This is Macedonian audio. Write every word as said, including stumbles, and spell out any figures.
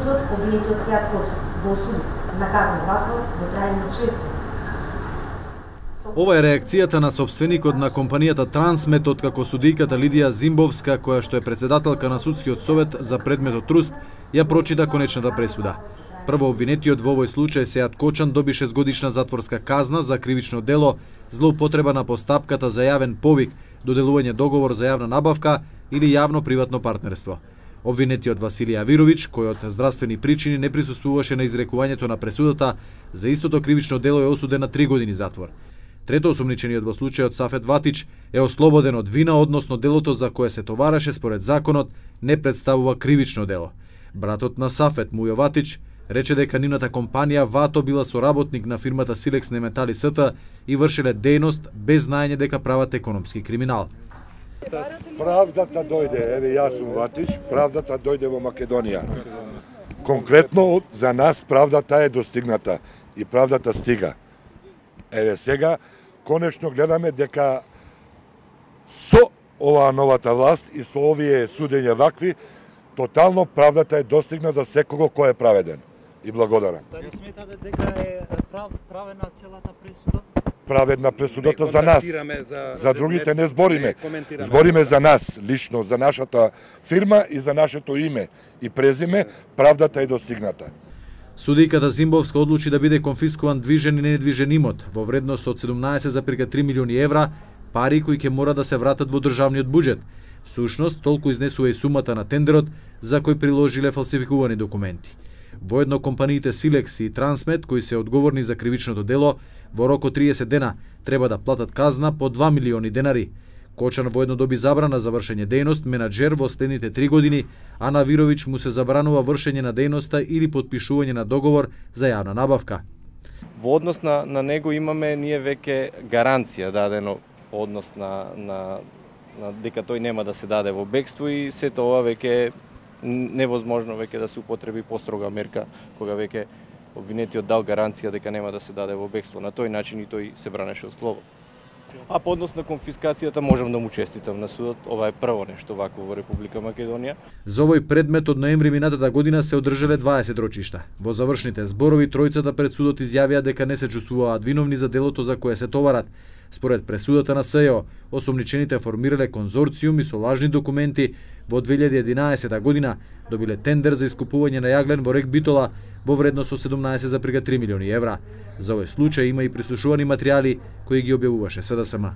судот обвинетиот Сејат Кочан го осуди на казна затвор во трајање од шест години. Ова е реакцијата на собственикот на компанијата Трансмет, откако судијката Лидија Зимбовска, која што е председателка на судскиот совет за предметот Труст, ја прочита конечната пресуда. Прво обвинетиот во овој случај Сејат Кочан доби шестгодишна затворска казна за кривично дело злоупотреба на постапката за јавен повик, доделување договор за јавна набавка или јавно-приватно партнерство. Обвинетиот Василија Авировиќ, кој од здравствени причини не присуствуваше на изрекувањето на пресудата, за истото кривично дело е осуден на три години затвор. Трето осомничениот во случајот Сафет Ватич е ослободен од вина, односно делото за кое се товареше според законот не представува кривично дело. Братот на Сафет, Мујо Ватич, рече дека нивната компанија Вато била соработник на фирмата Силекс Неметали СТ и вршеле дејност без знаење дека прават економски криминал. Правдата дојде, еве јас сум Ватич, правдата дојде во Македонија. Конкретно за нас правдата е достигната и правдата стига. Еве сега конечно гледаме дека со оваа новата власт и со овие судења вакви, тотално правдата е достигна за секого кој е праведен. И благодарам. Дали сметате дека е прав, правена целата пресуда? Праведна пресудата за нас. За, за другите не збориме. Збориме за нас, лично, за нашата фирма и за нашето име и презиме. Правдата е достигната. Судијката Зимбовска одлучи да биде конфискуван движен и недвижен имот во вредност од седумнаесет зарез три милиони евра, пари кои ќе мора да се вратат во државниот буџет. Всушност, толку изнесува и сумата на тендерот за кој приложиле фалсификувани документи. Воедно компаниите Силекс и Трансмет, кои се одговорни за кривичното дело, во рок од триесет дена треба да платат казна по два милиони денари. Кочан воедно доби забрана за вршење дејност менаџер во следните три години, а на Авировиќ му се забранува вршење на дејноста или потпишување на договор за јавна набавка. Во однос на, на него имаме ние веќе гаранција дадено однос на, на, на дека тој нема да се даде во бегство и сето ова веќе е невозможно веќе да се употреби построга мерка кога веќе обвинетиот дал гаранција дека нема да се даде во бегство. На тој начин и тој се бранеше од слободно. А по однос на конфискацијата можам да му честитам на судот. Ова е прво нешто вакво во Република Македонија. За овој предмет од ноември минатата година се одржале дваесет рочишта. Во завршните зборови тројцата пред судот изјавија дека не се чувствуваат виновни за делото за кое се товарат. Според пресудата на СЈО, осомничените формирале конзорциум и со лажни документи во две илјади и единаесета година добиле тендер за искупување на јаглен во рек Битола во вредност од седумнаесет зарез три милиони евра. За овој случај има и прислушувани материјали кои ги објавуваше СДСМ.